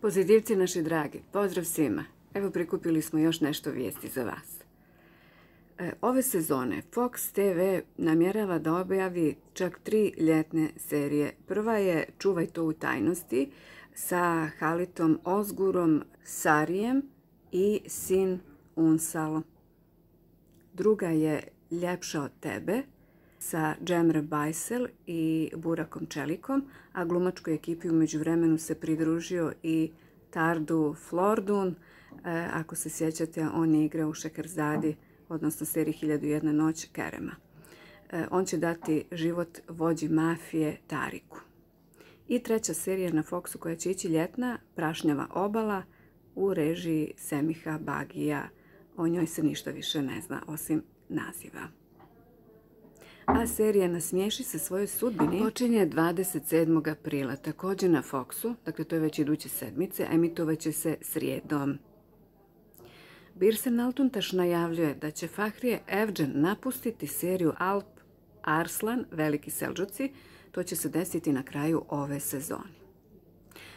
Pozitivci naši dragi, pozdrav svima. Evo prikupili smo još nešto vijesti za vas. Ove sezone Fox TV namjerava da objavi čak 3 ljetne serije. Prva je Čuvaj to u tajnosti sa Halitom Ozgurom, Sarijem i Sin Unsal. Druga je Ljepša od tebe sa Džemre Bajsel i Burakom Čelikom, a glumačkoj ekipi u međuvremenu se pridružio i Tardu Flordun. Ako se sjećate, on je igrao u Šekerzadi, odnosno seriji 1001 noć Kerema. On će dati život vođi mafije Tariku. I treća serija na Foxu koja će ići ljetna, Prašnjava obala u režiji Semiha Bagija. O njoj se ništa više ne zna osim naziva. A serija Nasmiješi se svojoj sudbini počinje 27. aprila, također na Foxu, dakle to je već iduće sedmice, emitovaće se srijedom. Birsen Altuntaš najavljuje da će Fahrije Evcen napustiti seriju Alp Arslan, Veliki Selđuci, to će se desiti na kraju ove sezone.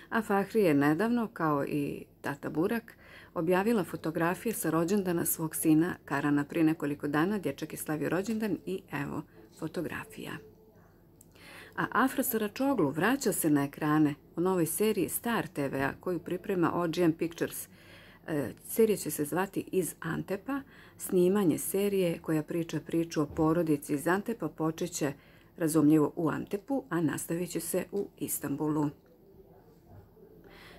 A Fahrije je nedavno, kao i tata Burak, objavila fotografije sa rođendana svog sina Karana. Prije nekoliko dana dječak je slavio rođendan i evo fotografija. A Afra Saračoglu vraća se na ekrane u novoj seriji Star TV-a koju priprema OGM Pictures. Serija će se zvati Iz Antepa. Snimanje serije koja priča priču o porodici iz Antepa počeće razumljivo u Antepu, a nastavit će se u Istanbulu.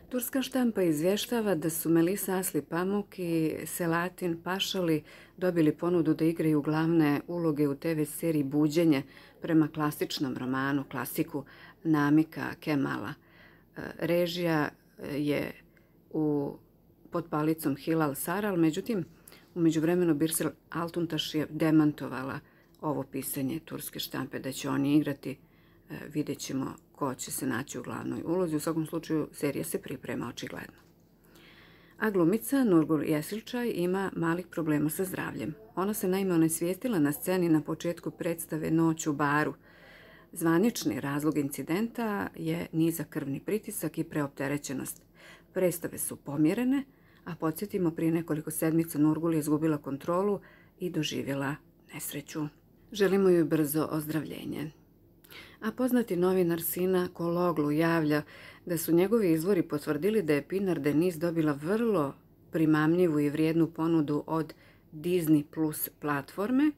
Turska štampa izvještava da su Melisa Asli Pamuk i Selahattin Pašali dobili ponudu da igraju glavne uloge u TV seriji Buđenje prema klasičnom romanu, klasiku Namika Kemala. Režija je pod palicom Hilal Saral, međutim, u međuvremenu Birsen Altuntaš je demantovala ovo pisanje turske štampe da će oni igrati. Vidjet ćemo ko će se naći u glavnoj ulozi. U svakom slučaju serija se priprema očigledno. A glumica Nurgul Yesilčaj ima malih problema sa zdravljem. Ona se naime onesvijestila na sceni na početku predstave Noć u baru. Zvanični razlog incidenta je nizak krvni pritisak i preopterećenost. Predstave su pomjerene, a podsjetimo, prije nekoliko sedmica Nurgul je izgubila kontrolu i doživjela nesreću. Želimo joj brzo ozdravljenje. A poznati novinar Sina Kologlu javlja da su njegovi izvori potvrdili da je Pinar Deniz dobila vrlo primamljivu i vrijednu ponudu od Disney Plus platforme,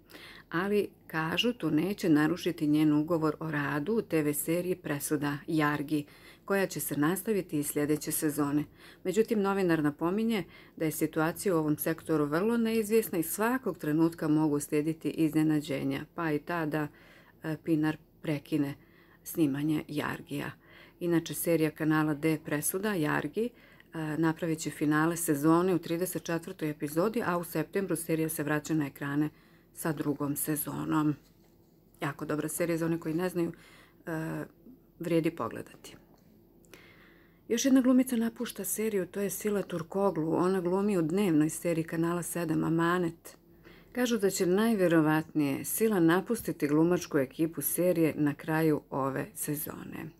ali kažu to neće narušiti njen ugovor o radu u TV seriji Presuda Jargi, koja će se nastaviti i sljedeće sezone. Međutim, novinar napominje da je situacija u ovom sektoru vrlo neizvjesna i svakog trenutka mogu slijediti iznenađenja, pa i tada Pinar prekine snimanje Jargija. Inače, serija kanala D Presuda Jargi napravit će finale sezone u 34. epizodi, a u septembru serija se vraća na ekrane sa drugom sezonom. Jako dobra serija, za one koji ne znaju, vrijedi pogledati. Još jedna glumica napušta seriju, to je Sila Turkoglu. Ona glumi u dnevnoj seriji kanala 7 Amanet. Kažu da će najvjerovatnije Sila napustiti glumačku ekipu serije na kraju ove sezone.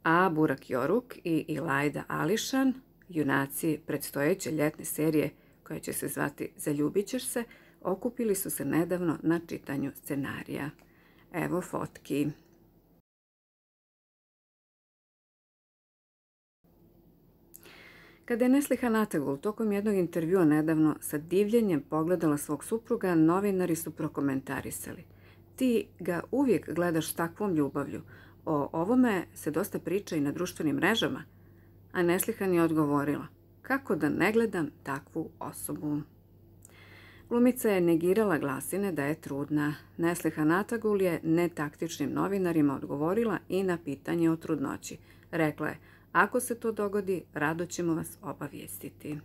A Burak Yoruk i Ilayda Alişan, junaci predstojeće ljetne serije koja će se zvati Zaljubit ćeš se, okupili su se nedavno na čitanju scenarija. Evo fotki. Kada je Neslihan Atagul tokom jednog intervjua nedavno sa divljenjem pogledala svog supruga, novinari su prokomentarisali: "Ti ga uvijek gledaš s takvom ljubavlju. O ovome se dosta priča i na društvenim mrežama." A Neslihan je odgovorila: "Kako da ne gledam takvu osobu?" Glumica je negirala glasine da je trudna. Neslihan Atagul je netaktičnim novinarima odgovorila i na pitanje o trudnoći. Rekla je: "Ako se to dogodi, rado ćemo vas obavijestiti."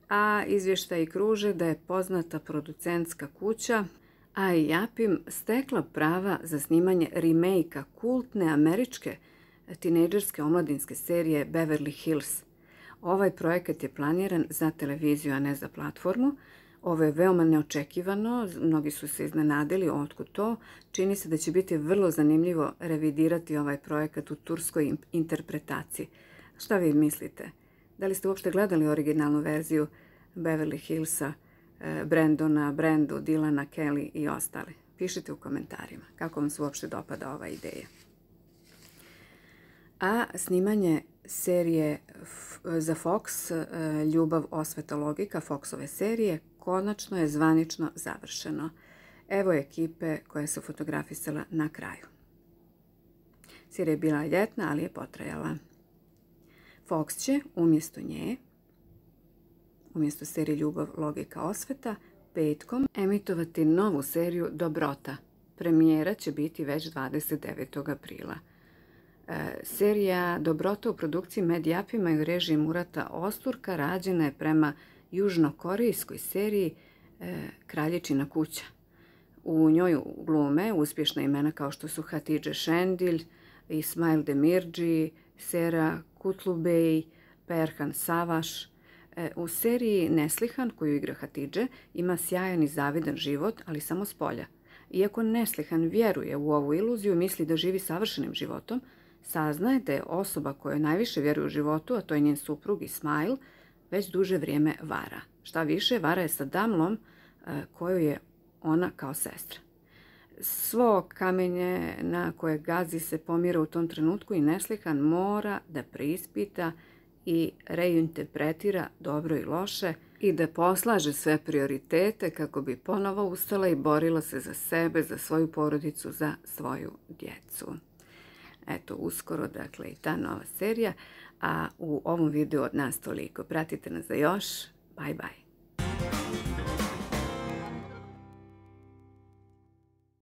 A izvještaji kruže da je poznata producentska kuća AIAPIM stekla prava za snimanje remake-a kultne američke tinejdžerske omladinske serije Beverly Hills. Ovaj projekat je planiran za televiziju, a ne za platformu. Ovo je veoma neočekivano, mnogi su se iznenadili otkud to. Čini se da će biti vrlo zanimljivo revidirati ovaj projekat u turskoj interpretaciji. Šta vi mislite? Da li ste uopšte gledali originalnu verziju Beverly Hillsa, Brandona, Brandu, Dylana, Kelly i ostali? Pišite u komentarima kako vam se uopšte dopada ova ideja. A snimanje serije za Fox, Ljubav, osveta, logika, Foxove serije, konačno je zvanično završeno. Evo ekipe koja se fotografisala na kraju. Serija je bila ljetna, ali je potrajala. Fox će umjesto nje, umjesto serije Ljubav, logika, osveta, petkom emitovati novu seriju Dobrota. Premijera će biti već 29. aprila. Serija Dobrota u produkciji Medijapima i u režiji Murata Osturka rađena je prema južnokorejskoj seriji Kraljičina kuća. U njoj glume uspješna imena kao što su Hatidže Šendil, Ismail Demirci, Sera Kutlubey, Perhan Savaš. U seriji Neslihan, koju igra Hatidže, ima sjajan i zavidan život, ali samo s polja. Iako Neslihan vjeruje u ovu iluziju, misli da živi savršenim životom, saznaje da je osoba koja najviše vjeruje u životu, a to je njen suprug Ismail, već duže vrijeme vara. Šta više, vara je sa Damlom, koju je ona kao sestra. Svo kamenje na koje gazi se pomira u tom trenutku i Neslihan mora da preispita i reinterpretira dobro i loše i da poslaže sve prioritete kako bi ponovo ustala i borila se za sebe, za svoju porodicu, za svoju djecu. Eto, uskoro, dakle, i ta nova serija, a u ovom videu od nas toliko. Pratite nas za još. Bye bye.